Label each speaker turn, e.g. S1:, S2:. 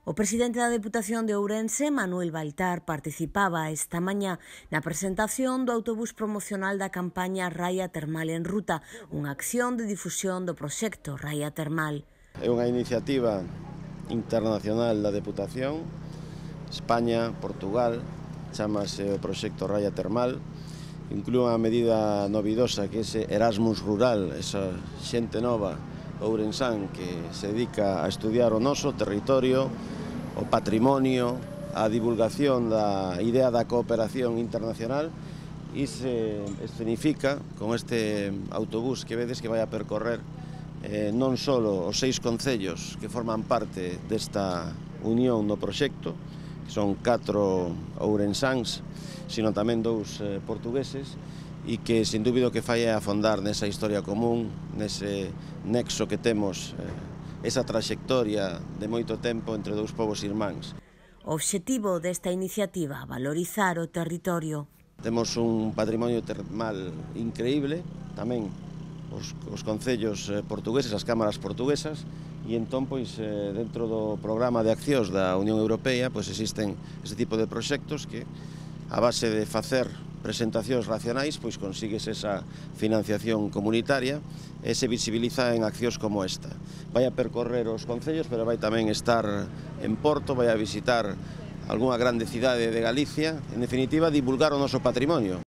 S1: O presidente da Deputación de Ourense, Manuel Baltar, participaba esta mañá na presentación do autobús promocional da campaña Raia Termal en Ruta, unha acción de difusión do proxecto Raia Termal.
S2: É unha iniciativa internacional da Deputación, España, Portugal, chamase o proxecto Raia Termal, inclúe unha medida novidosa que é ese Erasmus rural, esa xente nova ourensán que se dedica a estudiar o noso territorio, o patrimonio, a divulgación da idea da cooperación internacional e se escenifica con este autobús que vedes que vai a percorrer non só os 6 concellos que forman parte desta unión do proxecto, que son 4 ourensáns, sino tamén 2 portugueses, e que, sin dúbido, que fai afondar nesa historia común, nese nexo que temos, esa traxectoria de moito tempo entre 2 povos irmáns.
S1: O obxectivo desta iniciativa, valorizar o territorio.
S2: Temos un patrimonio termal increíble, tamén os concellos portugueses, as cámaras portuguesas, e entón, dentro do programa de accións da Unión Europea, existen este tipo de proxectos que, a base de facer presentacións racionais, consigues esa financiación comunitaria e se visibiliza en accións como esta. Vai a percorrer os concellos, pero vai tamén estar en Porto, vai a visitar algunha grande cidade de Galicia, en definitiva, divulgar o noso patrimonio.